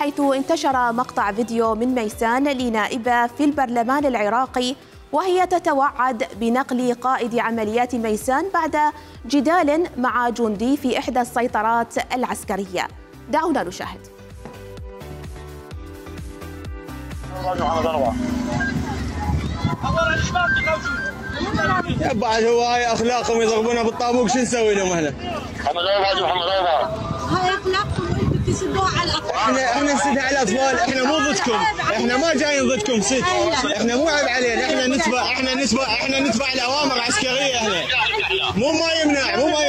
حيث انتشر مقطع فيديو من ميسان لنائبة في البرلمان العراقي وهي تتوعد بنقل قائد عمليات ميسان بعد جدال مع جندي في إحدى السيطرات العسكرية. دعونا نشاهد. بعد هو هاي اخلاقهم يضربونا بالطابوق شو نسوي لهم احنا؟ هاي اخلاقكم انتم تسدوها على الاطفال. احنا نسد على الاطفال، احنا مو ضدكم، احنا ما جايين ضدكم ست، احنا مو عيب علينا، احنا نتبع الاوامر العسكريه احنا. مو ما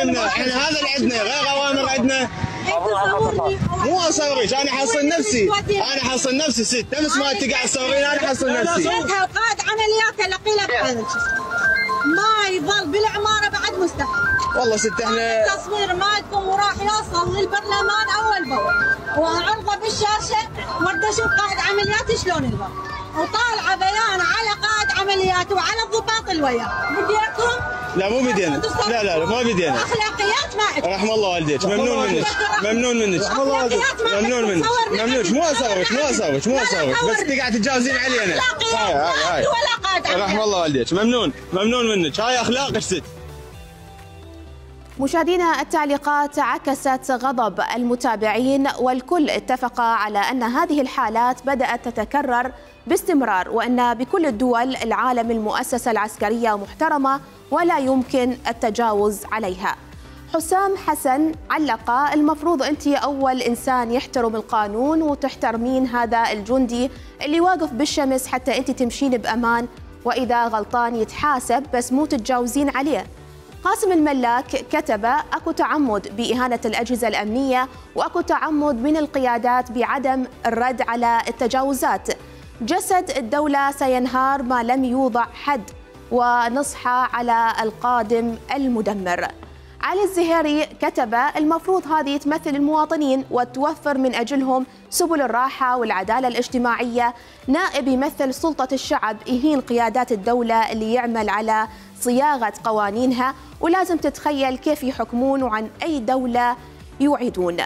يمنع، احنا هذا اللي عندنا، غير اوامر عندنا. مو اصورك، انا حصل نفسي ست، نفس ما انت قاعد تصورين انا حصل نفسي. قائد عمليات لقيلك ما يظل بالعماره بعد مستحيل. والله ست احنا التصوير مالكم وراح يوصل للبرلمان اول باول وعرضه بالشاشه ورد اشوف قائد عمليات شلون يظل وطالعه بيان على قائد عمليات وعلى الضباط اللي وياه. بديتهم؟ لا مو بدينا، لا ما بدينا. اخلاقيات ما عندك. رحم الله والديك، ممنون منك مو اصورك بس انت قاعد تتجاوزين علينا. هاي ولا قائد عمليات. رحم الله والديك، ممنون منك، هاي اخلاقك ست. مشاهدينا، التعليقات عكست غضب المتابعين والكل اتفق على أن هذه الحالات بدأت تتكرر باستمرار وأن بكل الدول العالم المؤسسة العسكرية محترمة ولا يمكن التجاوز عليها. حسام حسن علق: المفروض أنت أول إنسان يحترم القانون وتحترمين هذا الجندي اللي واقف بالشمس حتى أنت تمشين بأمان، وإذا غلطان يتحاسب بس مو تتجاوزين عليه. قاسم الملاك كتب: اكو تعمد بإهانة الأجهزة الأمنية واكو تعمد من القيادات بعدم الرد على التجاوزات. جسد الدولة سينهار ما لم يوضع حد، ونصحى على القادم المدمر. علي الزهيري كتب: المفروض هذه تمثل المواطنين وتوفر من أجلهم سبل الراحة والعدالة الاجتماعية. نائب يمثل سلطة الشعب يهين قيادات الدولة اللي يعمل على صياغة قوانينها، ولازم تتخيل كيف يحكمون وعن أي دولة يوعدون.